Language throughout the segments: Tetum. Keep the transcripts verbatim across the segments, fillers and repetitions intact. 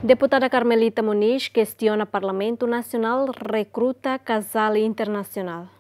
Deputada Carmelita Moniz kestiona Parlamentu Nasionál rekruta kazál internasionál.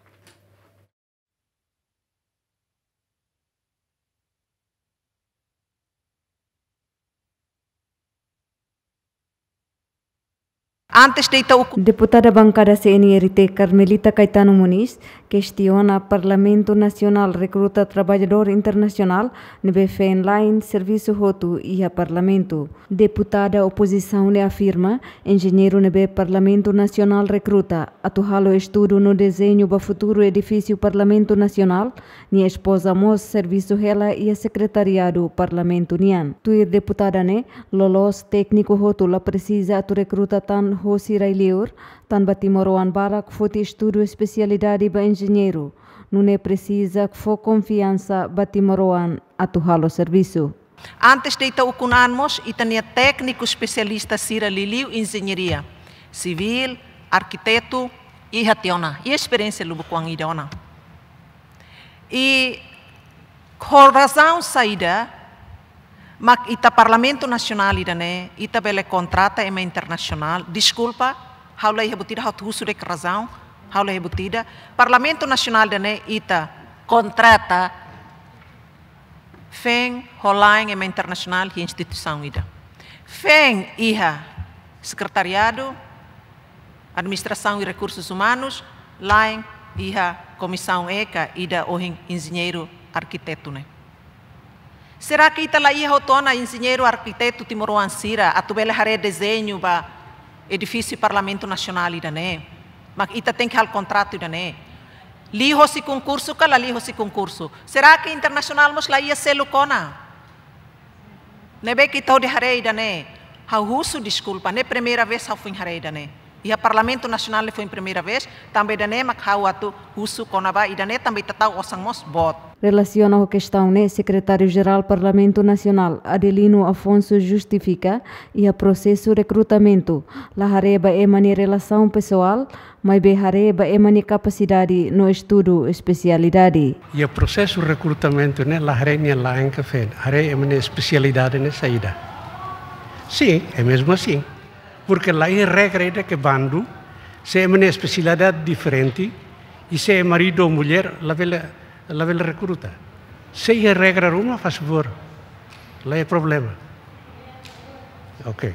Antes de ita ukun. Deputada Bankada C N R T Carmelita Caetano Moniz kestiona Parlamentu Nasionál rekruta traballadór internasionál ne'ebé feen-la'en servisu hotu iha Parlamentu. Deputada opozisaun ne'e afirma, enjeñeiru ne'ebé Parlamentu Nasionál rekruta atu halo estudu no dezeñu ba futuru edifísiu Parlamentu Nasionál, nia espoza mós servisu hela iha sekretariadu Parlamentu nian. Tuir deputada ne'e, loloos tékniku hotu la presiza atu rekruta tan hosi rai-liur, tanba timoroan barak foti estudu espesialidade ba enjeñeiru, nune'e presiza fó konfiansa ba timoroan atu halo servisu. Antes de ita ukun an mós, ita-nia tékniku espesialista sira liuliu enjeñaria sivíl, arkitetu, iha tiha ona, iha esperiénsia lubuk-oan ida ona. I ho razaun saida mak ita Parlamentu Nasionál ida-ne'e, ita bele kontrata ema internasionál? Deskulpa, ha'u la iha buat ida, ha'u atu husu de'it razaun, ha'u la iha buat ida. Parlamentu Nasionál ida-ne'e ita kontrata feen ho la'en ema internasionál iha instituisaun ida. Feen iha sekretariadu, administrasaun i rekursus umanus, la'en iha komisaun eka ida ohin enjeñeiru arkitetu ne'e. Será que ita la iha hotu ona enjeñeiru arkitetu timoroan sira atu bele haree dezeñu ba edifísiu Parlamentu Nasionál ida-ne'e? Mak ita tenke halo kontratu ida-ne'e. Liu hosi konkursu ka la liu hosi konkursu? Será que internasionál mós la iha seluk ona? Ne'ebé ke ita hodi haree ida-ne'e, ha'u husu deskulpa, ne'e primeira vez ha'u foin haree ida-ne'e. Iha Parlamentu Nasionál ne'e foin primeira vez, tanba ida-ne'e mak ha'u atu husu kona-ba ida-ne'e, tanba ita tau osan mós boot. Relasiona ho kestaun ne'e, Sekretáriu-Jerál Parlamentu Nasionál, Adelino Afonso, justifika, iha prosesu rekrutamentu la haree ba ema nia relasaun pesoál, maibé haree ba ema nia kapasidade no estudu espesialidade. Iha prosesu rekrutamentu ne'e la haree nia la'en ka feen, haree ema nia espesialidade ne'e saida. Sin, é mesmu asin. Porke la iha regra ida ke bandu, se ema nia espesialidade diferente, i se é maridu ou mulher, labele, labele rekruta. Se iha regra ruma, faz favor. La iha problema. Ok.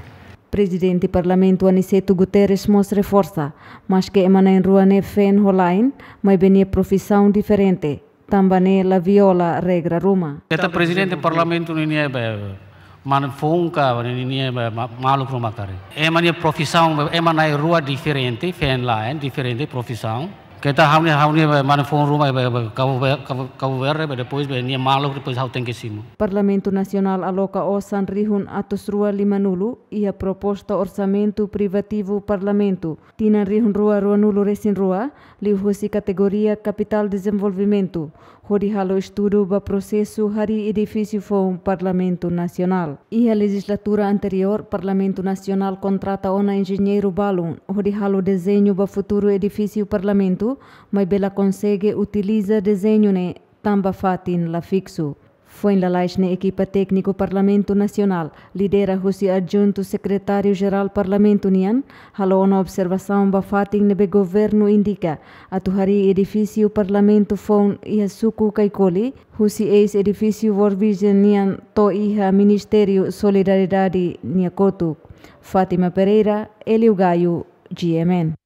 Prezidente Parlamentu Aniceto Guterres mós reforsa, maske ema na'in-rua ne'e feen ho la'en, maibé nia profisaun diferente, tanba ne'e la viola regra ruma. Keta prezidente parlamentu ninia be mane foun ka ninia be ma-, maluk ruma karik. Ema nia profisaun be, ema na'in-rua diferente, feen la'en, diferente profisaun. Keta ha'u-nia, ha'u-nia be mane foun ruma be, be Cabo Ver-, Cabo, Cabo Verde be, depois be nia maluk, depois ha'u tenke simu. Parlamentu Nasionál aloka osan rihun atus rua limanulu iha proposta orsamentu privativu Parlamentu tinan rihun rua ruanulu-resin-rua, liuhosi kategoria Kapitál Dezenvolvimentu, hodi halo estudu ba prosesu harii edifísiu foun Parlamentu Nasionál. Iha lejizlatura anteriór, Parlamentu Nasionál kontrata ona enjeñeiru balun hodi halo dezeñu ba futuru edifísiu Parlamentu, maibé la konsege utiliza dezeñu ne'e tanba fatin la fiksu. Foin lalais ne'e ekipa tékniku Parlamentu Nasionál, lidera husi Adjuntu Sekretáriu-Jerál Parlamentu nian, halo ona observasaun ba fatin ne'ebé governu indika atu harii edifísiu Parlamentu foun iha suku Caicoli, husi eis-edifísiu World Vision nian to'o iha Ministériu Solidariedade nia kotuk. Fátima Pereira, Hélio Gaio, G M N.